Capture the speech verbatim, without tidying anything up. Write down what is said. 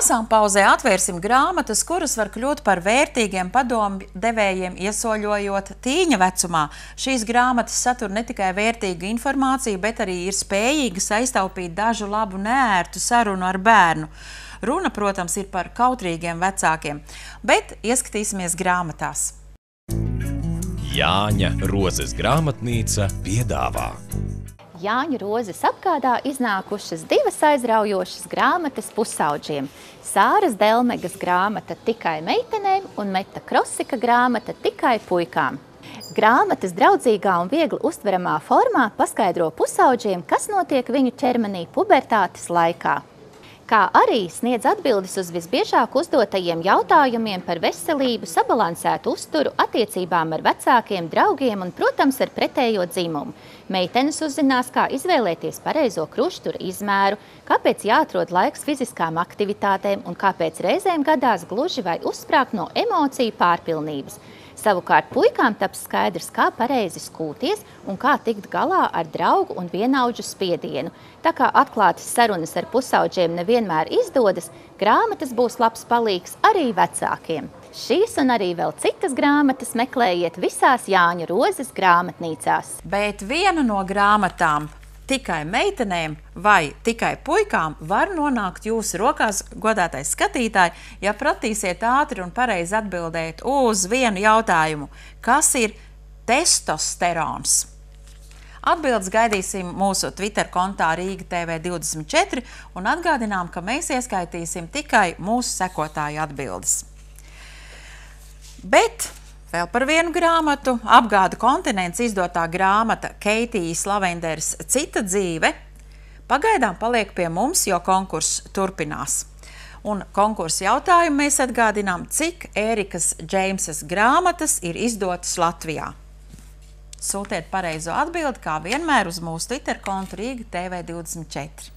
Lasām pauzē atvērsim grāmatas, kuras var kļūt par vērtīgiem padomu devējiem, iesoļojot tīņa vecumā. Šīs grāmatas satur ne tikai vērtīgu informāciju, bet arī ir spējīgas aiztaupīt dažu labu neērtu sarunu ar bērnu. Runa, protams, ir par kautrīgiem vecākiem, bet ieskatīsimies grāmatās. Jāņa Rozes grāmatnīca piedāvā. Jāņa Rozes apgādā iznākušas divas aizraujošas grāmatas pusaudžiem. Sāras Delmegas grāmata Tikai meitenēm un Meta Krosika grāmata Tikai puikām. Grāmatas draudzīgā un viegli uztveramā formā paskaidro pusaudžiem, kas notiek viņu ķermenī pubertātes laikā. Kā arī sniedz atbildes uz visbiežāk uzdotajiem jautājumiem par veselību, sabalansētu uzturu, attiecībām ar vecākiem, draugiem un, protams, ar pretējo dzimumu. Meitenes uzzinās, kā izvēlēties pareizo kruštura izmēru, kāpēc jāatrod laiks fiziskām aktivitātēm un kāpēc reizēm gadās gluži vai uzsprāgt no emociju pārpilnības. Savukārt puikām taps skaidrs, kā pareizi skūties un kā tikt galā ar draugu un vienaudžu spiedienu. Tā kā atklātas sarunas ar pusaudžiem nevienmēr izdodas, grāmatas būs labs palīgs arī vecākiem. Šīs un arī vēl citas grāmatas meklējiet visās Jāņa Rozes grāmatnīcās. Bet viena no grāmatām Tikai meitenēm vai Tikai puikām var nonākt jūsu rokās, godātais skatītāji, ja pratīsiet ātri un pareizi atbildēt uz vienu jautājumu. Kas ir testosterons? Atbildes gaidīsim mūsu Twitter kontā Rīga T V divdesmit četri un atgādinām, ka mēs ieskaitīsim tikai mūsu sekotāju atbildes. Bet vēl par vienu grāmatu, Apgāda kontinents izdotā grāmata Keitijas Lavenders Cita dzīve, pagaidām paliek pie mums, jo konkurss turpinās. Un konkursa jautājumu mēs atgādinām, cik Ērikas Džeimsas grāmatas ir izdotas Latvijā. Sūtiet pareizo atbildi, kā vienmēr, uz mūsu Twitter kontu Rīga T V divdesmit četri.